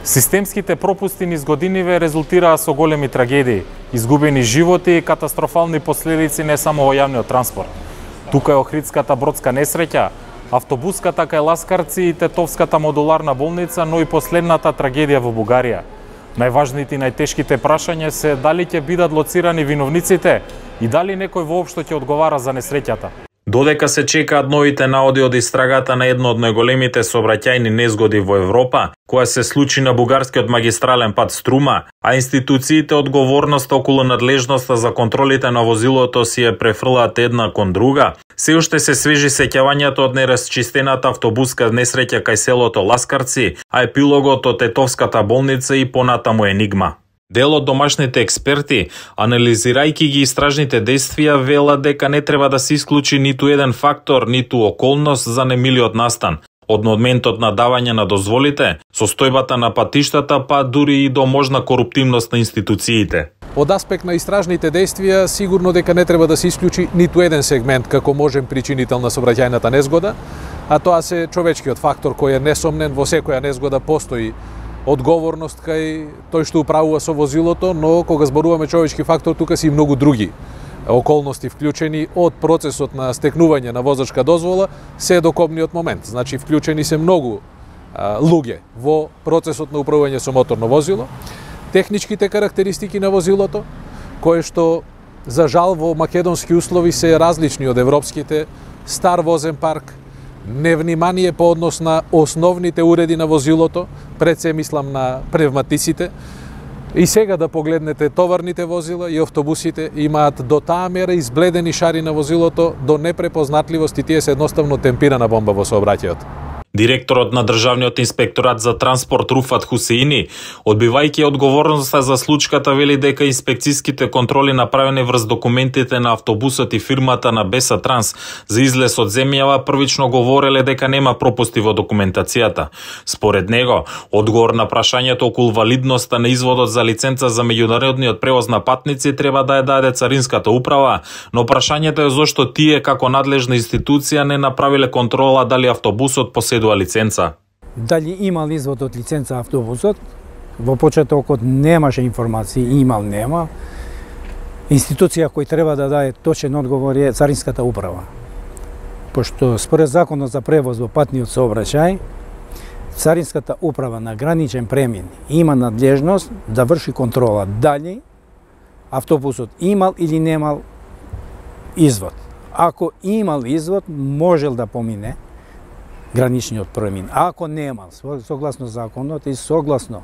Системските пропусти низ годиниве резултираа со големи трагедии, изгубени животи и катастрофални последици не само во јавниот транспорт. Тука е Охридската бродска несреќа, автобуската кај Ласкарци и Тетовската модуларна болница, но и последната трагедија во Бугарија. Најважните и најтешките прашања се дали ќе бидат лоцирани виновниците и дали некој воопшто ќе одговара за несреќата. Додека се чекаат новите наоди од истрагата на едно од најголемите сообраќајни незгоди во Европа, која се случи на бугарскиот магистрален пат Струма, а институциите одговорноста околу надлежноста за контролите на возилото си ја префрлаат една кон друга, се уште се свежи сеќавањето од неразчистената автобуска несреќа кај селото Ласкарци, а епилогот од Тетовската болница и понатаму енигма. Дел од домашните експерти, анализирајќи ги истражните действија, велат дека не треба да се исклучи ниту еден фактор, ниту околност за немилиот настан. Од моментот на давање на дозволите, состојбата на патиштата, па дури и до можна коруптивност на институциите. Од аспект на истражните действија, сигурно дека не треба да се исклучи ниту еден сегмент како можен причинител на сообраќајната незгода, а тоа се човечкиот фактор кој е несомнен. Во секоја незгода постои одговорност кај тој што управува со возилото, но кога зборуваме човечки фактор, тука се и многу други околности вклучени, од процесот на стекнување на возачка дозвола се до кобниот момент. Значи вклучени се многу луѓе во процесот на управување со моторно возило, техничките карактеристики на возилото, кои што за жал во македонски услови се различни од европските, стар возен парк, невнимание по однос на основните уреди на возилото, пред се мислам на пневматиците. И сега да погледнете товарните возила и автобусите имаат до таа мера избледени шари на возилото до непрепознатливост и тие се едноставно темпирана бомба во сообраќајот. Директорот на Државниот инспекторат за транспорт Руфат Хусеини, одбивајќи одговорноста за случката, вели дека инспекцијските контроли направени врз документите на автобусот и фирмата на Беса Транс за излез од земјава првично говореле дека нема пропусти во документацијата. Според него, одговор на прашањето околу валидноста на изводот за лиценца за меѓународниот превоз на патници треба да ја даде Царинската управа, но прашањето е зошто тие како надлежна институција не направиле контрола дали автобусот поседува лиценца. Дали имал извод од лиценца автобусот? Во почетокот немаше информации, имал, нема. Институција кој треба да даде точен одговор е Царинската управа. Пошто според законот за превоз во патниот сообраќај, Царинската управа на граничен премин има надлежност да врши контрола дали автобусот имал или немал извод. Ако имал извод, можел да помине граничниот премин. Ако немал, согласно законот и согласно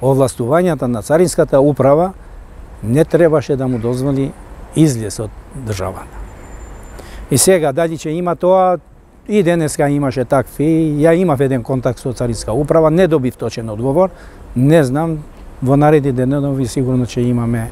овластувањата на Царинската управа, не требаше да му дозволи излез од државата. И сега, дали ќе има тоа, и денеска имаше такви, ја имав еден контакт со Царинска управа, не добив точен одговор, не знам, во наредни денови сигурно ќе имаме,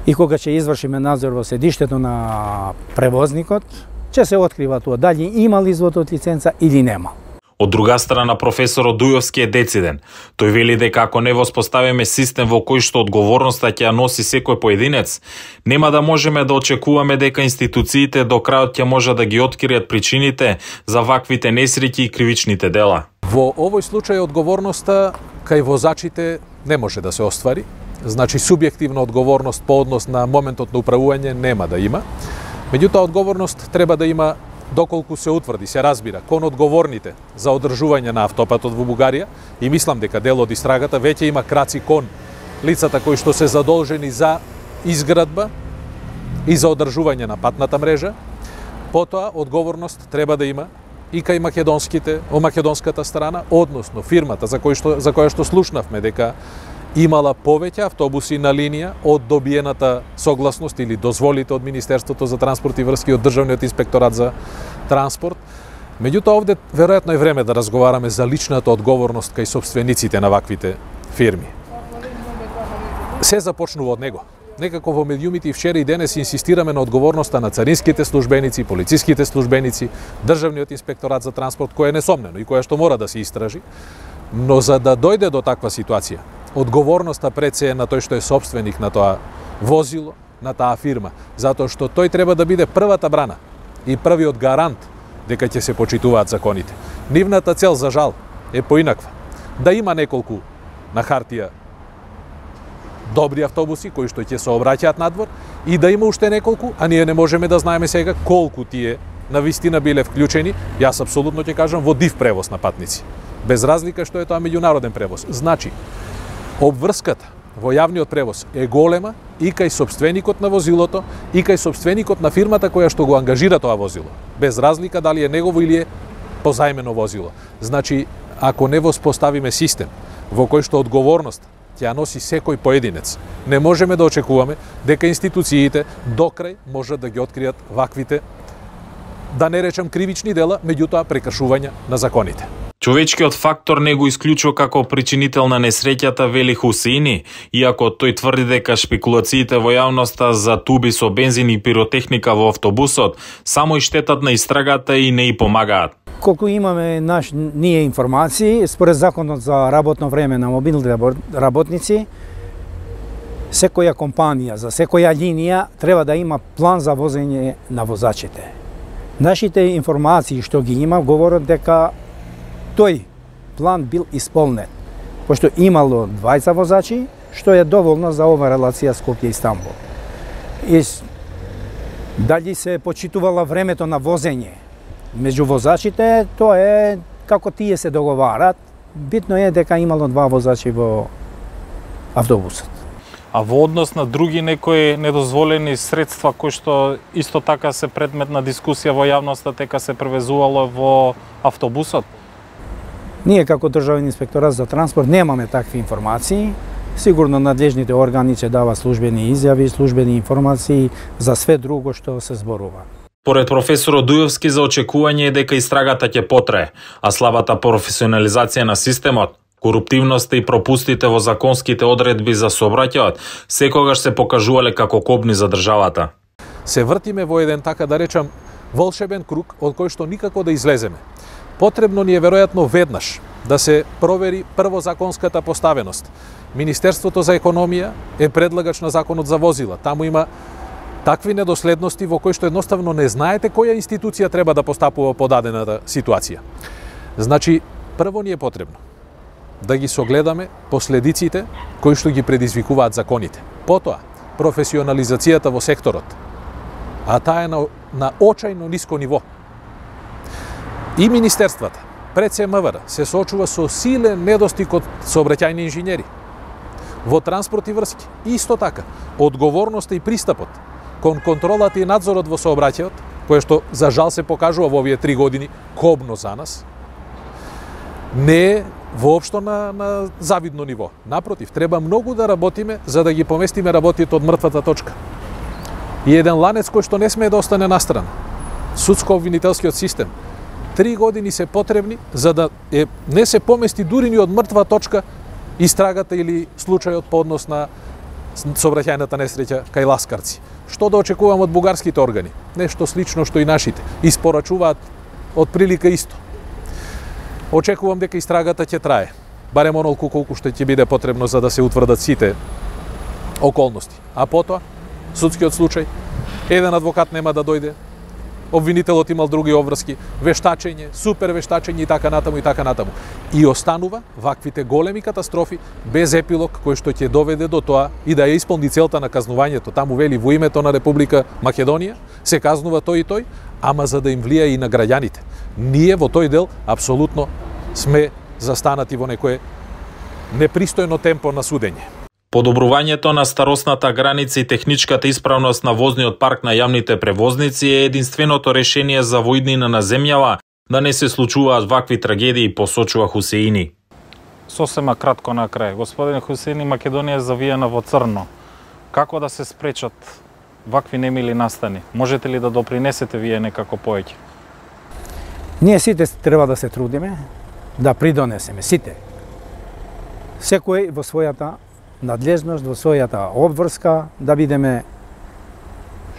и кога ќе извршиме надзор во седиштето на превозникот, ќе се открива тоа дали имал извод од лиценца или немал. Од друга страна, професорот Дујовски е дециден. Тој вели дека ако не воспоставиме систем во кој што одговорноста ќе ја носи секој поединец, нема да можеме да очекуваме дека институциите до крајот ќе може да ги откријат причините за ваквите несреќи и кривичните дела. Во овој случај одговорноста кај возачите не може да се оствари. Значи субјективна одговорност по однос на моментот на управување нема да има. Меѓутоа, одговорност треба да има доколку се утврди, се разбира, кон одговорните за одржување на автопатот во Бугарија, и мислам дека дел од истрагата веќе има краци кон лицата кои што се задолжени за изградба и за одржување на патната мрежа. Потоа, одговорност треба да има и кај македонската страна, односно фирмата за која што слушнавме дека имала повеќе автобуси на линија од добиената согласност или дозволите од Министерството за транспорт и врски од Државниот инспекторат за транспорт. Меѓутоа, овде веројатно е време да разговараме за личната одговорност кај собствениците на ваквите фирми. Се започнува од него. Некако во медиумите и вчера и денес инсистираме на одговорноста на царинските службеници, полициските службеници, Државниот инспекторат за транспорт, кој е несомнено и која што мора да се истражи. Но за да дојде до таква ситуација, одговорноста пред се е на тој што е собственик на тоа возило, на таа фирма, затоа што тој треба да биде првата брана и првиот гарант дека ќе се почитуваат законите. Нивната цел, за жал, е поинаква. Да има неколку на хартија добри автобуси кои што ќе се обраќаат надвор и да има уште неколку, а ние не можеме да знаеме сега колку тие на вистина биле вклучени. Јас апсолутно ќе кажам во див превоз на патници. Без разлика што е тоа меѓународен превоз. Значи, обврската во јавниот превоз е голема и кај сопственикот на возилото, и кај сопственикот на фирмата која што го ангажира тоа возило. Без разлика дали е негово или е позајмено возило. Значи, ако не воспоставиме систем во кој што одговорност ќе ја носи секој поединец, не можеме да очекуваме дека институциите докрај можат да ги откријат ваквите, да не речем кривични дела, меѓутоа прекршувања на законите. Човечкиот фактор не го исклучува како причинител на несреќата, вели Хусеини, иако тој тврди дека шпекулациите во јавноста за туби со бензин и пиротехника во автобусот само и штетат на истрагата и не и помагаат. Колку имаме ние информации, според законот за работно време на мобилните работници, секоја компанија, за секоја линија треба да има план за возење на возачите. Нашите информации што ги има говорат дека тој план бил исполнет, пошто имало 20 возачи, што е доволно за ова релација Скопје-Истанбул. И дали се почитувала времето на возење меѓу возачите, тоа е како тие се договарат. Битно е дека имало 2 возачи во автобусот. А во однос на други некои недозволени средства кои што исто така се предмет на дискусија во јавноста, дека се превезувало во автобусот? Ние како Државен инспекторат за транспорт немаме такви информации. Сигурно надлежните органи ќе дават службени изјави, службени информации за све друго што се зборува. Поред професорот Дујовски, за очекување е дека истрагата ќе потрае, а слабата професионализација на системот, коруптивноста и пропустите во законските одредби за сообраќајот секогаш се покажувале како кобни за државата. Се вртиме во еден, така да речам, волшебен круг од кој што никако да излеземе. Потребно ни е веројатно веднаш да се провери прво законската поставеност. Министерството за економија е предлагач на законот за возила. Таму има такви недоследности во кои што едноставно не знаете која институција треба да постапува по дадената ситуација. Значи, прво ни е потребно да ги согледаме последиците кои што ги предизвикуваат законите. Потоа, професионализацијата во секторот, а таа е на очајно ниско ниво. И министерствата, пред се МВР, се соочува со силен недостиг од сообраќајни инженери. Во транспорт и врски, исто така, одговорноста и пристапот кон контролата и надзорот во сообраќајот, кое што за жал се покажува во овие 3 години кобно за нас, не е воопшто на завидно ниво. Напротив, треба многу да работиме за да ги поместиме работите од мртвата точка. И еден ланец кој што не смее да остане настрана. Судско-обвинителскиот систем. 3 години се потребни за да не се помести дури ни од мртва точка истрагата или случајот по однос на сообраќајната несреќа кај ласкарци. Што да очекувам од бугарските органи? Нешто слично што и нашите. Испорачуваат од прилика исто. Очекувам дека истрагата ќе трае. Барем онолку колку што ќе биде потребно за да се утврдат сите околности. А потоа, судскиот случај, еден адвокат нема да дојде, обвинителот имал други обврски, вештачење, супер вештачење и така натаму и така натаму. И останува ваквите големи катастрофи без епилог кој што ќе доведе до тоа и да ја исполни целта на казнувањето. Таму вели во името на Република Македонија се казнува тој и тој, ама за да им влија и на граѓаните. Ние во тој дел апсолутно сме застанати во некое непристојно темпо на судење. Подобрувањето на старосната граница и техничката исправност на возниот парк на јавните превозници е единственото решение за во иднина на земјава да не се случуваат вакви трагедии, посочува Хусеини. Сосема кратко на крај. Господин Хусеини, Македонија е завиена во црно. Како да се спречат вакви немили настани? Можете ли да допринесете вие некако повеќе? Ние сите треба да се трудиме, да придонесеме, сите. Секој во својата надлежност, во својата обврска, да бидеме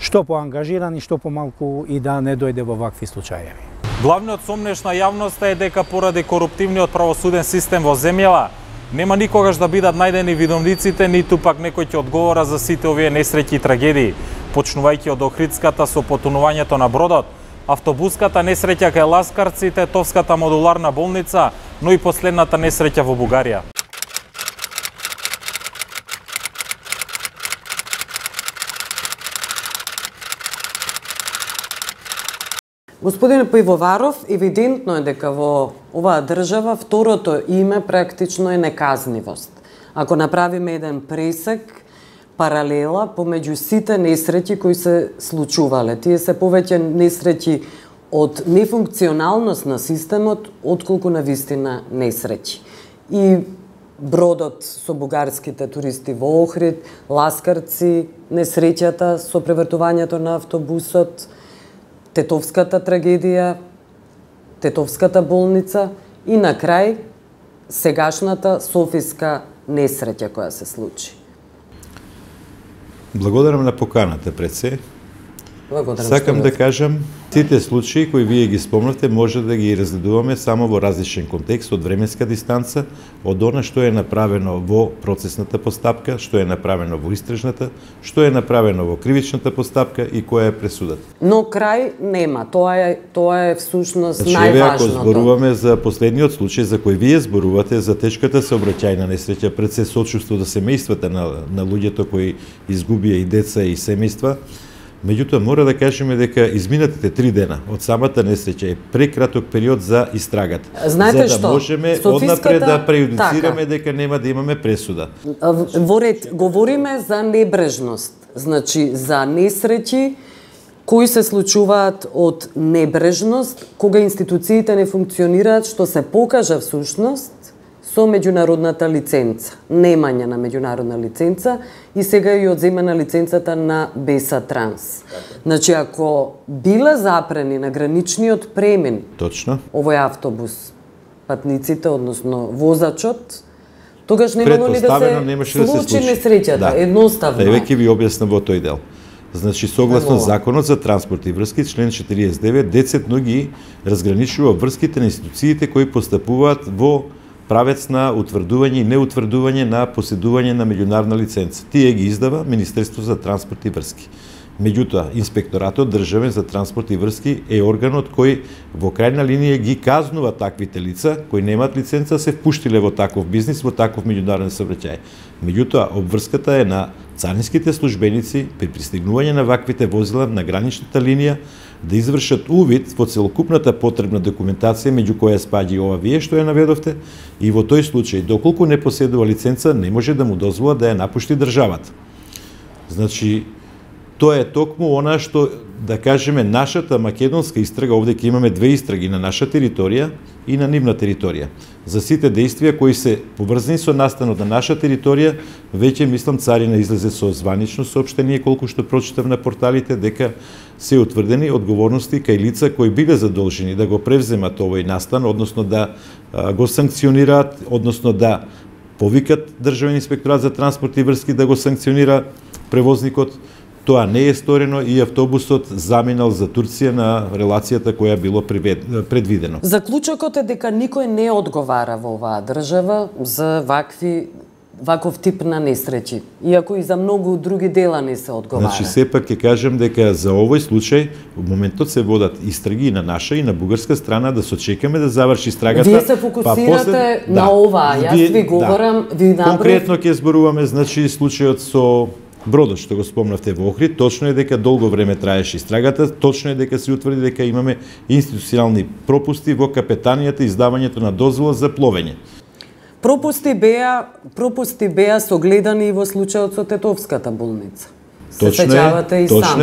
што поангажирани, што помалку и да не дојде во вакви случаеви. Главниот сомнеш на јавноста е дека поради коруптивниот правосуден систем во земјава нема никогаш да бидат најдени виновниците, ниту пак некој ќе одговора за сите овие несреќи и трагедии, почнувајќи од Охридската со потонувањето на бродот, автобуската несреќа кај Ласкарци, Тетовската модуларна болница, но и последната несреќа во Бугарија. Господин Пивоваров, евидентно е дека во оваа држава второто име практично е неказнивост. Ако направиме еден пресек, паралела помеѓу сите несреќи кои се случувале, тие се повеќе несреќи од нефункционалност на системот, отколку на вистина несреќи. И бродот со бугарските туристи во Охрид, Ласкарци, несреќата со превртувањето на автобусот, Тетовската трагедија, Тетовската болница и на крај сегашната Софиска несреќа која се случи. Благодарам на поканата пред се. Благодарам. Сакам да кажам, сите случаи кои вие ги спомнавте може да ги разгледуваме само во различен контекст од временска дистанца, од она што е направено во процесната постапка, што е направено во истражната, што е направено во кривичната постапка и која е пресудата. Но крај нема, тоа е всушност значи, најважното. Ако зборуваме за последниот случај за кој вие зборувате, за тешката сообраќајна несреќа, пред се сочувство до семејствата на луѓето кои изгубија и деца и семејства, меѓутоа мора да кажеме дека изминатите 3 дена од самата несреќа е прекраток период за истрагата. Знаете за да можеме однапред да прејудицираме дека нема да имаме пресуда. Во ред говориме за небрежност, значи за несреќи кои се случуваат од небрежност, кога институциите не функционираат, што се покажа всушност со меѓународната лиценца, немање на меѓународна лиценца и сега и одземана лиценцата на Беса Транс. Значи, ако биле запрени на граничниот премин точно овој автобус, патниците, односно возачот, тогаш немало ли да се случи несреќата, едноставно. Да, веќе ви објаснам во тој дел. Значи, согласно Законот за транспорт и врски, член 49, децетно ги разграничува врските на институциите кои постапуваат во правец на утврдување и неутврдување на поседување на меѓународна лиценца. Тие ги издава Министерство за транспорт и врски. Меѓутоа, Инспекторатот државен за транспорт и врски е органот кој во крајна линија ги казнува таквите лица кои немаат лиценца се впуштиле во таков бизнис, во таков меѓународен сообраќај. Меѓутоа, обврската е на царинските службеници при пристигнување на ваквите возила на граничната линија да извршат увид во целокупната потребна документација, меѓу која спаѓа и ова вие што ја наведовте, и во тој случај, доколку не поседува лиценца, не може да му дозвола да ја напушти државата. Значи, тоа е токму она што, да кажеме, нашата македонска истрага, овде ќе имаме 2 истраги на наша територија и на нивна територија. За сите действија кои се поврзани со настанот на наша територија, веќе мислам царина излезе со званично соопштение, колку што прочитав на порталите, дека се утврдени одговорности кај лица кои биле задолжени да го превземат овој настан, односно да го санкционираат, односно да повикат Државен инспекторат за транспорт и врски да го санкционира превозникот. Тоа не е сторено и автобусот заминал за Турција на релацијата која било предвидено. Заклучокот е дека никој не одговара во оваа држава за ваков тип на несреќи, иако и за многу други дела не се одговара. Значи, сепак ќе кажем дека за овој случај, во моментот се водат истраги и на наша и на бугарска страна, да се очекаме да заврши истрагата. Вие се фокусирате на ова, јас ви говорам, ви направив... Конкретно ќе зборуваме, значи, случајот со бродот што го спомнавте во Охрид. Точно е дека долго време траеше истрагата, точно е дека се утврди дека имаме институционални пропусти во капетанијата и издавањето на дозвола за пловење. Пропусти беа согледани и во случајот со Тетовската болница. Точно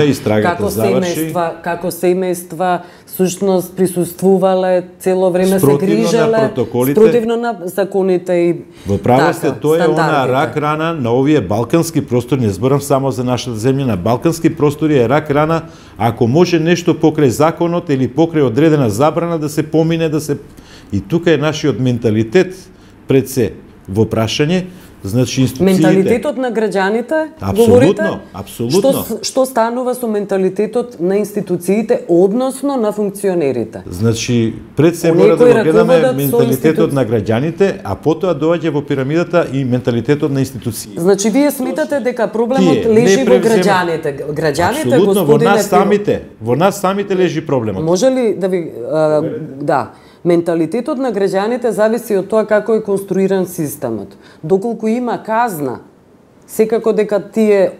е, истрагата заврши. Како семејства сушност присуствувале, цело време се грижеле, спротивно на законите и во право сте, тоа е она рак рана на овие балкански простори, не зборам само за нашата земја, на балкански простори е рак рана, ако може нешто покрај законот или покрај одредена забрана да се помине, и тука е нашиот менталитет пред се во прашање. Значи, институциите... Менталитетот на граѓаните, говорите? Апсолутно. Што станува со менталитетот на институциите, односно на функционерите? Значи, пред се мора да го гледаме менталитетот на граѓаните, а потоа доаѓа во пирамидата и менталитетот на институциите. Значи, вие сметате дека проблемот лежи во граѓаните. Граѓаните, апсолутно, во нас самите лежи проблемот. Може ли да ви... да. Менталитетот на граѓаните зависи од тоа како е конструиран системот. Доколку има казна, секако дека тие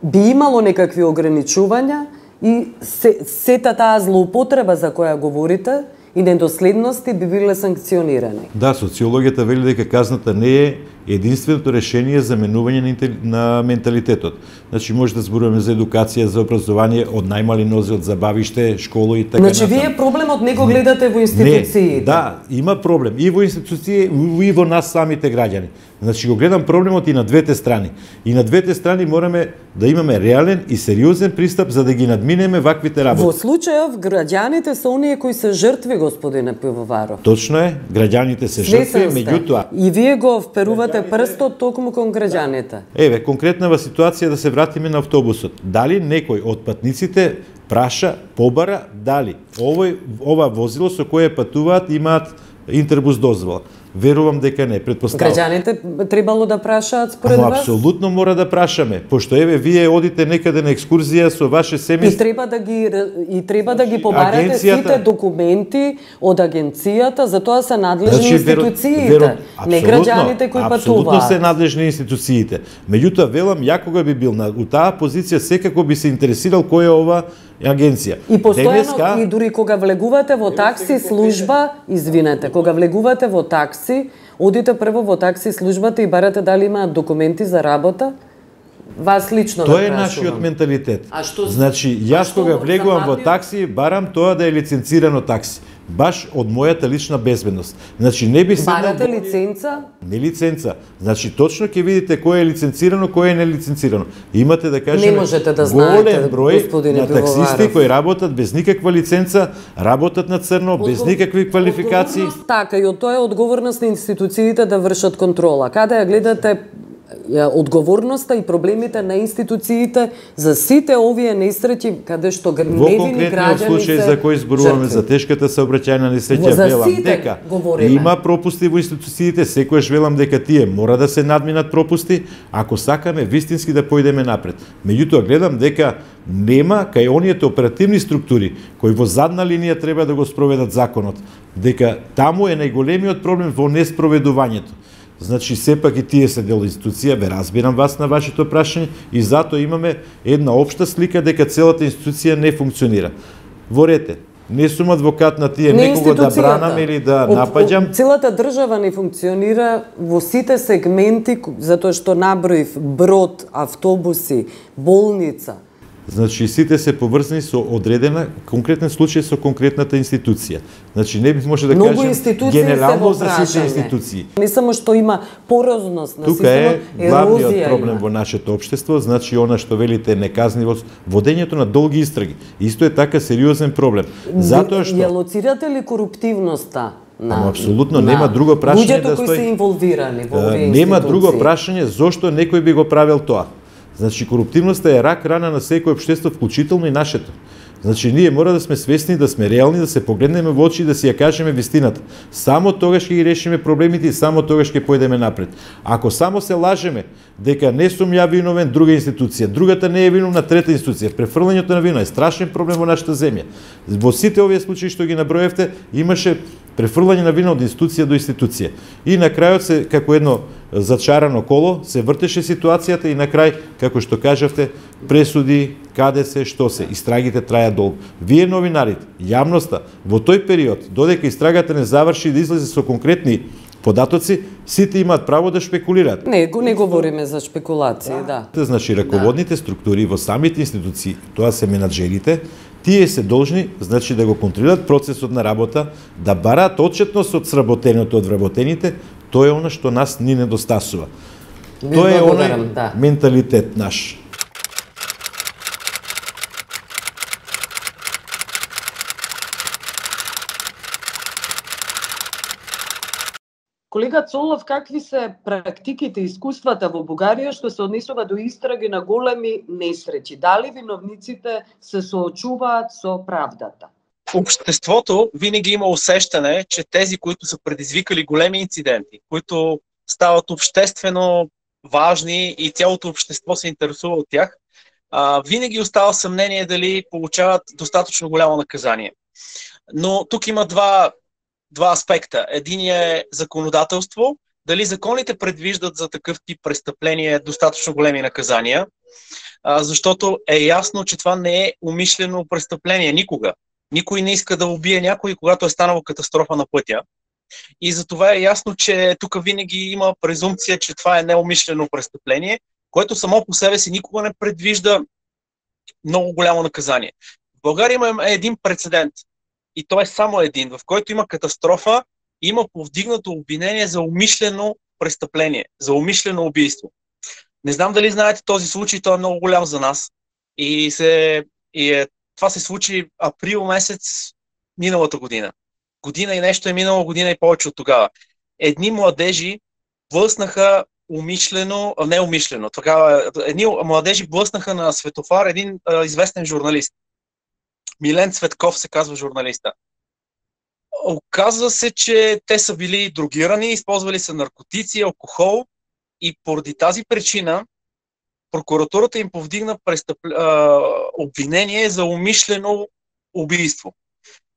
би имало некакви ограничувања и сета таа злоупотреба за која говорите и недоследности би биле санкционирани. Да, социологијата вели дека казната не е единственото решение за менување на менталитетот. Значи може да зборуваме за едукација, за образование од најмали нозе, од забавиште, школа и така натаму. Значи вие проблемот не го гледате во институциите. Не, да, има проблем и во институции и во нас самите граѓани. Значи го гледам проблемот и на двете страни. И на двете страни мораме да имаме реален и сериозен пристап за да ги надминеме ваквите работи. Во случајов граѓаните се оние кои се жртви, господине Пивоваров. Точно е, граѓаните се жртви, меѓутоа. И вие го вперувате прстот токму кон граѓаните. Еве, конкретнава ситуација да се вратиме на автобусот. Дали некој од патниците праша, побара, дали ова возило со кое патуваат имаат интербус дозвола? Верувам дека не, претпоставувам. Граѓаните требало да прашаат според вас? Апсолутно мора да прашаме, пошто еве вие одите некаде на екскурзија со ваше семејство. И треба да ги побарате сите документи од агенцијата, за тоа се надлежни институциите, не граѓаните кои патуваат. Апсолутно се надлежни институциите. Меѓутоа велам, ја кога би бил у таа позиција секако би се интересирал која е ова агенција. И постојано, и дури кога влегувате во такси служба, извинете, кога влегувате во такси, одите прво во такси службата и барате дали имаат документи за работа. Вас лично тоа е нашиот менталитет. Значи, јас кога влегувам во такси, барам тоа да е лиценцирано такси. Баш од мојата лична безбедност. Значи не би седнал... Барате лиценца? Не лиценца. Значи точно ќе видите кој е лиценцирано, кој е нелиценцирано. Имате да кажеме не можете да знаете, голем број на таксисти кои работат без никаква лиценца, работат на црно, без никакви квалификации. Така, и од тоа е одговорност на институциите да вршат контрола. Каде ја гледате одговорноста и проблемите на институциите за сите овие несреќи каде што невини граѓани се случај за кој зборуваме за тешката сообраќајна несреќа, велам дека има пропусти во институциите, секојаш велам дека тие мора да се надминат пропусти ако сакаме вистински да појдеме напред. Меѓутоа гледам дека нема кај оние оперативни структури кои во задна линија треба да го спроведат законот, дека таму е најголемиот проблем во неспроведувањето. Значи, сепак и тие се дел институција, ве разбирам вас на вашето прашање и затоа имаме една општа слика дека целата институција не функционира. Ворете, не сум адвокат на тие некого да бранам или да напаѓам. Целата држава не функционира во сите сегменти, затоа што наброив брод, автобуси, болница. Значи, сите се поврзани со одредена, конкретен случај со конкретната институција. Значи, не може да кажем генерално за сите институции. Не само што има порозност на системот, ерозија. Тука е главниот проблем во нашето општество, значи она што велите неказнивост, водењето на долги истраги. Исто е така сериозен проблем. Затоа што ја лоцирате ли коруптивноста? Апсолутно нема друго прашање да стои. Луѓето кои се инволвирани во овие институции. Нема друго прашање зошто некој би го правил тоа. Значи, коруптивноста е рак рана на секој општество, вклучително и нашето. Значи, ние мора да сме свесни, да сме реални, да се погледнеме во очи и да си ја кажеме вистината. Само тогаш ќе ги решиме проблемите и само тогаш ќе појдеме напред. Ако само се лажеме дека не сум ја виновен, друга институција, другата не е виновна, трета институција, префрлањето на вина е страшен проблем во нашата земја. Во сите овие случаи што ги наброевте, имаше префрлање на вина од институција до институција. И на крајот се, како едно зачарано коло, се вртеше ситуацијата и на крај, како што кажавте, пресуди, каде се, што се, истрагите траја долго. Вие новинарите, јавноста, во тој период, додека истрагата не заврши да излезе со конкретни податоци, сите имаат право да шпекулираат. Не говориме за шпекулации, да. Значи, раководните структури во самите институции, тоа се менаџерите, тие се должни, значи, да го контролираат процесот на работа, да бараат отчетност од сработеното од вработените, тоа е она што нас ни недостасува. Тоа е оној менталитет наш. Колега Цолов, какви се практиките и искуствата во Бугарија што се однесува до истраги на големи несреќи? Дали виновниците се соочуваат со правдата? Обществото винаги има усещане, че тези, които са предизвикали големи инциденти, които стават обществено важни и цялото общество се интересува от тях, винаги остава съмнение дали получават достатъчно голямо наказание. Но тук има два аспекта. Единият е законодателство, дали законите предвиждат за такъв тип престъпления достатъчно големи наказания. защото е ясно, че това не е умишлено престъпление никога. Никой не иска да убие някой, когато е станала катастрофа на пътя. И затова е ясно, че тук винаги има презумпция, че това е неумишлено престъпление, което само по себе си никога не предвижда много голямо наказание. В България има един прецедент, и той е само един, в който има катастрофа и има повдигнато обвинение за умишлено престъпление, за умишлено убийство. Не знам дали знаете този случай, той е много голям за нас. Това се случи април месец миналата година. Година и нещо е минало, година и повече от тогава. Едни младежи блъснаха неумишлено. Едни младежи блъснаха на светофар един известен журналист. Милен Цветков се казва журналиста. Оказва се, че те са били дрогирани, използвали са наркотици, алкохол и поради тази причина прокуратурата им повдигна обвинение за умишлено убийство.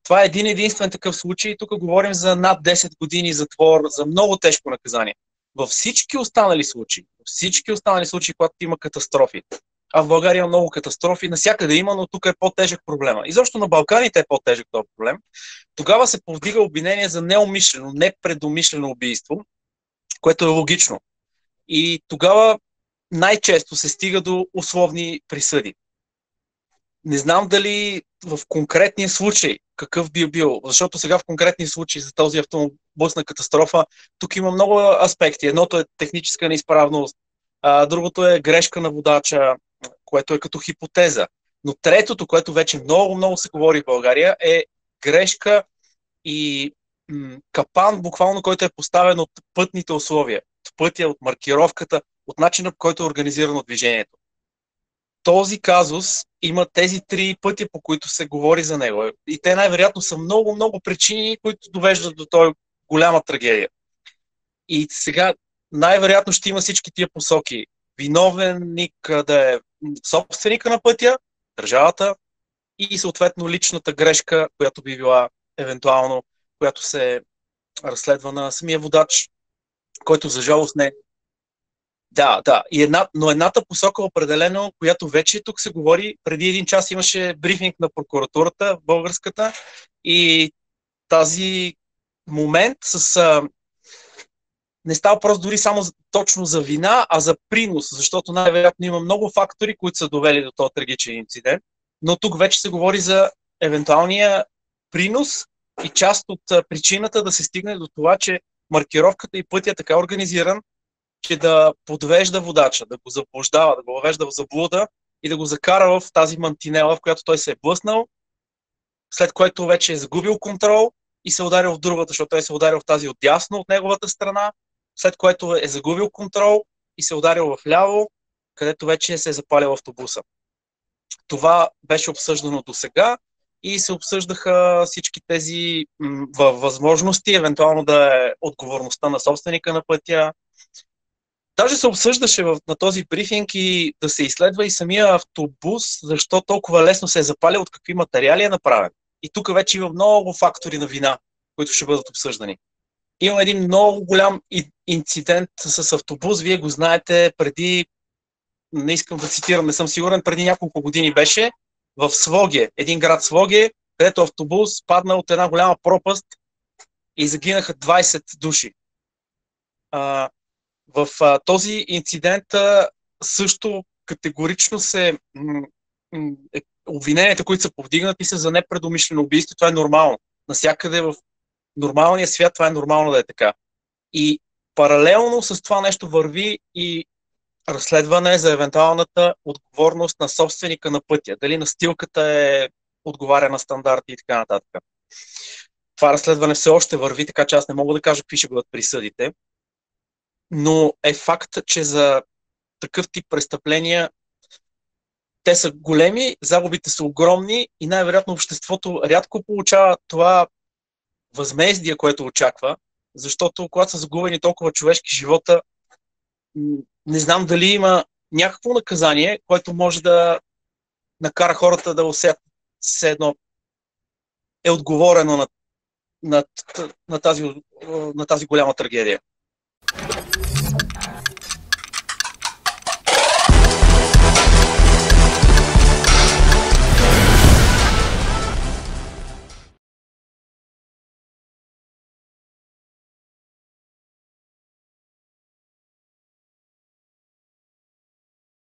Това е един единствен такъв случай. Тук говорим за над 10 години затвор, за много тежко наказание. Във всички останали случаи, когато има катастрофи, а в България има много катастрофи, навсякъде има, но тук е по-тежък проблема. И защо на Балканите е по-тежък този проблем? Тогава се повдига обвинение за неумишлено, непредумишлено убийство, което е логично. И тогава най-често се стига до условни присъди. Не знам дали в конкретния случай какъв би бил, защото сега в конкретния случай за този автобусна катастрофа, тук има много аспекти. Едното е техническа неизправност, другото е грешка на водача, което е като хипотеза. Но третото, което вече много се говори в България, е грешка и капан, буквално, който е поставен от пътните условия, от пътя, от маркировката, от начина, по който е организирано движението. Този казус има тези три пътя, по които се говори за него. И те най-вероятно са много причини, които довеждат до този голяма трагедия. И сега най-вероятно ще има всички тия посоки. Виновник да е собственика на пътя, държавата и съответно личната грешка, която би била евентуално, която се разследва на самия водач, който за жалост не. Да. Но едната посока определено, която вече тук се говори, преди един час имаше брифинг на прокуратурата, българската, и тази момент не става просто дори само точно за вина, а за принос, защото най-вероятно има много фактори, които са довели до този трагичен инцидент, но тук вече се говори за евентуалния принос и част от причината да се стигне до това, че маркировката и пътя е така организиран, че да подвежда водача, да го заблуждава, да го въвежда в заблуда и да го закара в тази мантинела, в която той се е блъснал, след което вече е загубил контрол и се ударил в другата, защото той се ударил в тази отдясно от неговата страна, след което е загубил контрол и се ударил в ляво, където вече се е запалил автобуса. Това беше обсъждано до сега и се обсъждаха всички тези възможности, евентуално да е отговорността на собственика на пътя. Даже се обсъждаше на този брифинг и да се изследва и самия автобус, защо толкова лесно се е запалил, от какви материали е направен. И тук вече има много фактори на вина, които ще бъдат обсъждани. Има един много голям инцидент с автобус, вие го знаете, преди, не искам да цитирам, не съм сигурен, преди няколко години беше в Своге, един град Своге, където автобус падна от една голяма пропаст и загинаха 20 души. В този инцидент също категорично обвиненията, които са повдигнати, са за непредумишлено убийство. Това е нормално. Насякъде в нормалния свят това е нормално да е така. И паралелно с това нещо върви и разследване за евентуалната отговорност на собственика на пътя. Дали настилката отговаря на стандарти и така нататък. Това разследване все още върви, така че аз не мога да кажа какви ще бъдат присъдите. Но е факт, че за такъв тип престъпления те са големи, загубите са огромни и най-вероятно обществото рядко получава това възмездие, което очаква, защото когато са загубени толкова човешки живота, не знам дали има някакво наказание, което може да накара хората да усетят все едно е отговорено на тази голяма трагедия.